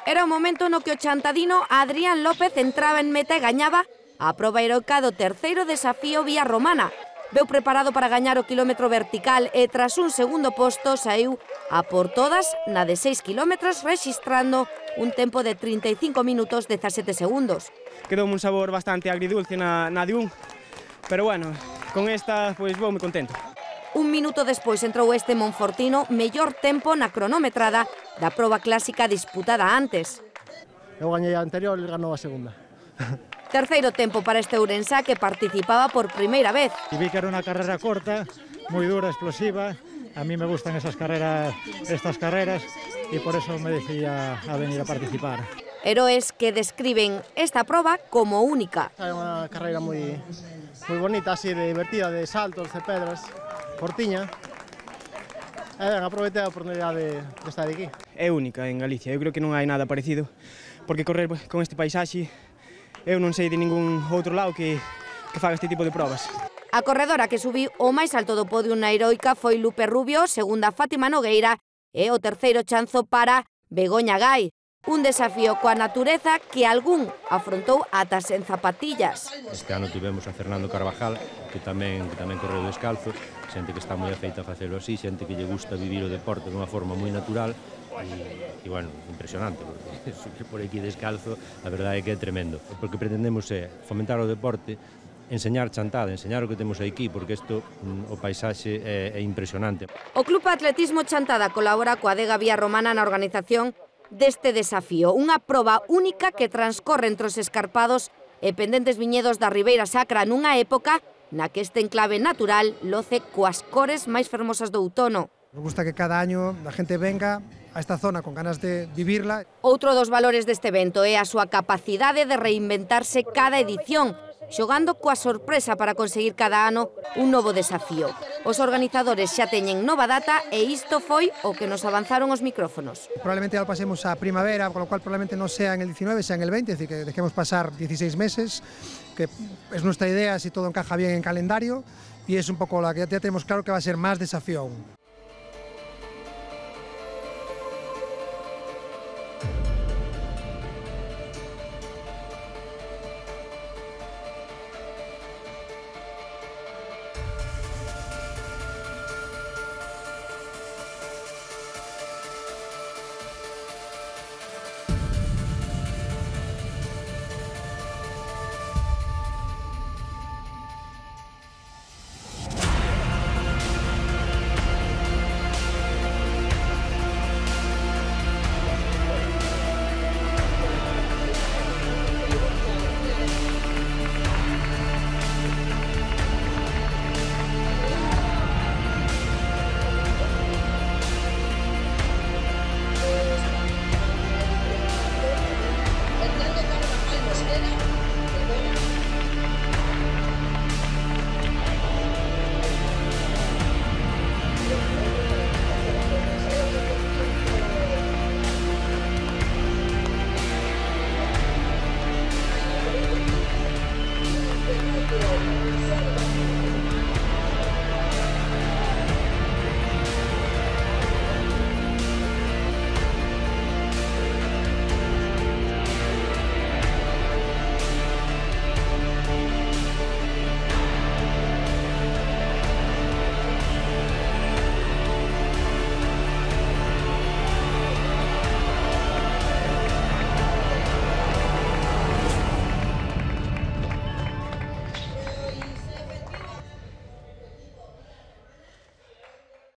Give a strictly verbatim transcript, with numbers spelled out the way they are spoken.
Era o momento no que o chantadino Adrián López entraba en meta e gañaba a proba heroica do terceiro desafío Vía Romana. Veu preparado para gañar o quilómetro vertical e tras un segundo posto saiu a por todas na de seis kilómetros rexistrando un tempo de trinta e cinco minutos dezasete segundos. Quedoume un sabor bastante agridulce na, na de un, pero bueno, con esta pois vou moi contento. Un minuto despois entrou este monfortino mellor tempo na cronometrada da proba clásica disputada antes. Eu gañei a anterior e ganou a segunda. Terceiro tempo para este ourensá que participaba por primeira vez. Y vi que era una carrera corta, muy dura, explosiva. A mí me gustan esas carreras, estas carreras y por eso me decidí a, a venir a participar. Heroes que describen esta proba como única. É unha carreira moi moi bonita, así de divertida, de saltos, de pedras, cortiña. E ben, aproveitei a oportunidade de estar aquí. É única en Galicia, eu creo que non hai nada parecido, porque correr con este paisaxe, eu non sei de ningún outro lado que, que faga este tipo de probas. A corredora que subiu o máis alto do podio na heroica foi Lupe Rubio, segunda Fátima Nogueira e o terceiro chanzo para Begoña Gai. Un desafío coa natureza que algún afrontou ata sen zapatillas. Este ano tivemos a Fernando Carvajal, que tamén, que tamén correu descalzo, xente que está moi afeita a facelo así, xente que lle gusta vivir o deporte dunha forma moi natural, e, e bueno, impresionante, porque subir por aquí descalzo, a verdade é que é tremendo. O que pretendemos é fomentar o deporte, enseñar chantada, enseñar o que temos aquí, porque isto, o paisaxe é, é impresionante. O Club Atletismo Chantada colabora coa adega Vía Romana na organización deste desafío, unha proba única que transcorre entre os escarpados e pendentes viñedos da Ribeira Sacra nunha época na que este enclave natural loce coas cores máis fermosas do outono. Nos gusta que cada año a gente venga a esta zona con ganas de vivirla. Outro dos valores deste evento é a súa capacidade de reinventarse cada edición, xogando coa sorpresa para conseguir cada ano un novo desafío. Os organizadores xa teñen nova data e isto foi o que nos avanzaron os micrófonos. Probablemente ya lo pasemos a primavera, con lo cual probablemente no sea en el diecinueve, sea en el veinte, es decir, que dejemos pasar dieciséis meses, que es nuestra idea si todo encaja bien en calendario, y es un poco la que ya tenemos claro que va a ser más desafío aún.